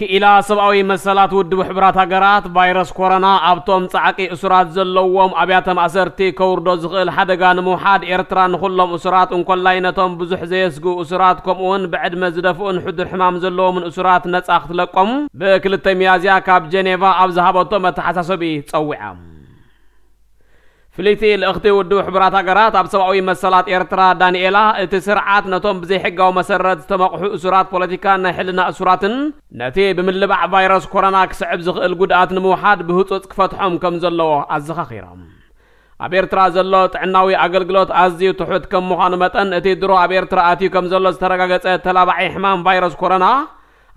ክኢላ ሰብኣዊ መሰላት ውድብ ሕቡራት ሃገራት፣ ቫይረስ ኮሮና ኣብቶም ጻዕቂ እሱራት ዘለዎም ኣብያተ ማእሰርቲ ከውርዶ ዝኽእል ሓደጋ ንምውሓድ፣ ኤርትራ ንኹሎም እሱራት፣ እንኮላይ ነቶም ብዙሕ ዘየስግኡ እሱራት፣ ከምኡውን ብዕድመ ዝደፍኡን ሕዱር ሕማም ዘለዎምን እሱራት ነጻ ክትለቆም፣ ብ2 ሚያዝያ ካብ ጀኔቫ ኣብ ዝሃበቶ መተሓሳሰቢ ጸዊዓ። ፍልይቲ ልእኽቲ ውድብ ሕቡራት ሃገራት ኣብ ሰብኣዊ መሰላት ኤርትራ፣ ዳንኤላ፣ እቲ ስርዓት ነቶም ብዘይሕጋዊ መሰረት ዝተመቕሑ እሱራት ፖለቲካን ናይ ሕልና እሱራትን፣ ነቲ ብምልባዕ ቫይረስ ኮሮና ክስዕብ ዝኽእል ጉድኣት ንምውሓድ ብህጹጽ ክፈትሖም ከም ዘለዎ ኣዘኻኺሮም። ኣብ ኤርትራ ዘሎ ጥዕናዊ ኣገልግሎት ኣዝዩ ትሑት ከም ምዃኑ መጠን፣ እቲ ድሮ ኣብ ኤርትራ ኣትዩ ከም ዘሎ ዝተረጋገጸ ተላባዒ ሕማም ቫይረስ ኮሮና፣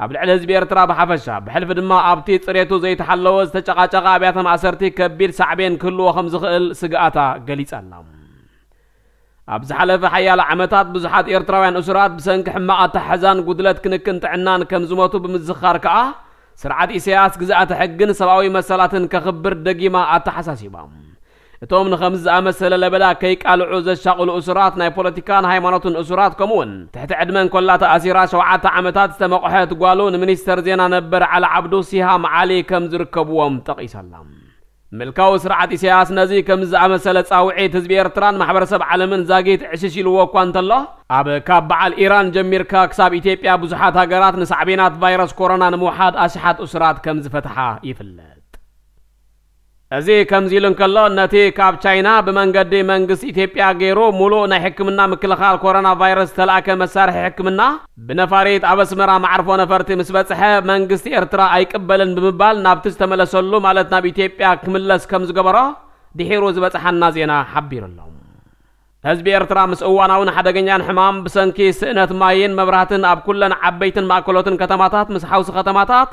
ኣብ ልዕሊ ህዝቢ ኤርትራ ብሓፈሻ፣ ብሕልፊ ድማ ኣብቲ ጽሬቱ ዘይተሓለወ ዝተጨቓጨቐ ኣብያተ ማእሰርቲ ከቢድ ሳዕቤን ክህልዎ ከም ዝኽእል ስግኣታ ገሊጻ ኣላ። ኣብ ዝሓለፈ ሓያሎ ዓመታት ብዙሓት ኤርትራውያን እሱራት ብሰንኪ ሕማቕ ኣተሓሕዛን ጉድለት ክንክን ጥዕናን ከም ዝሞቱ ብምዝኻር ከኣ፣ ስርዓት ኢሳያስ ግዝኣተ ሕግን ሰብኣዊ መሰላትን ከኽብር ደጊማ ኣተሓሳሲባ። እቶም ንኸምዚ ዝኣመሰለ ለበዳ ከይቃልዑ ዘሻቕሉ እሱራት፣ ናይ ፖለቲካን ሃይማኖትን እሱራት፣ ከምኡውን ትሕቲ ዕድመ እንኮላ ተኣሲራ ሸውዓተ ዓመታት ዝተመቕሐት ጓሉ፣ ንሚኒስተር ዜና ነበር ዓሊ ዓብዱ፣ ሲሃም ዓሊ፣ ከም ዝርከብዎም ጠቒሳላ። ምልካዊ ስርዓት ኢሳያስ ነዚ ከምዚ ዝኣመሰለ ጻውዒት ህዝቢ ኤርትራን ማሕበረሰብ ዓለምን ዛጊት ዕሽሽ ኢልዎ እኳ እንተሎ፣ ኣብ ካብ በዓል ኢራን ጀሚርካ ክሳብ ኢትዮጵያ ብዙሓት ሃገራት ንሳዕቤናት ቫይረስ ኮሮና ንምውሓድ ኣሽሓት እሱራት ከም ዝፈትሓ ይፍለጥ። እዚ ከምዚ ኢሉ እንከሎ፣ ነቲ ካብ ቻይና ብመንገዲ መንግስቲ ኢትዮጵያ ገይሩ ሙሉእ ናይ ሕክምና ምክልኻል ኮሮና ቫይረስ ዝተላእከ መሳርሒ ሕክምና ብነፋሪት ኣብ ኣስመራ መዓርፎ ነፈርቲ ምስ በጽሐ፣ መንግስቲ ኤርትራ ኣይቅበልን ብምባል ናብቲ ዝተመለሰሉ፣ ማለት ናብ ኢትዮጵያ ክምለስ ከም ዝገበሮ ድሒሩ ዝበጽሓና ዜና ሓቢሩ ኣሎ። ህዝቢ ኤርትራ ምስ እዋናውን ሓደገኛን ሕማም ብሰንኪ ስእነት ማይን መብራህትን ኣብ ኩለን ዓበይትን ማእከሎትን ከተማታት ምስ ሓውሲ ከተማታት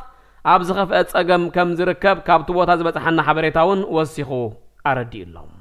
ኣብ ዝኸፍአ ጸገም ከም ዝርከብ ካብቲ ቦታ ዝበጽሓና ሓበሬታ እውን ወሲኹ ኣረዲኡ ኣሎ።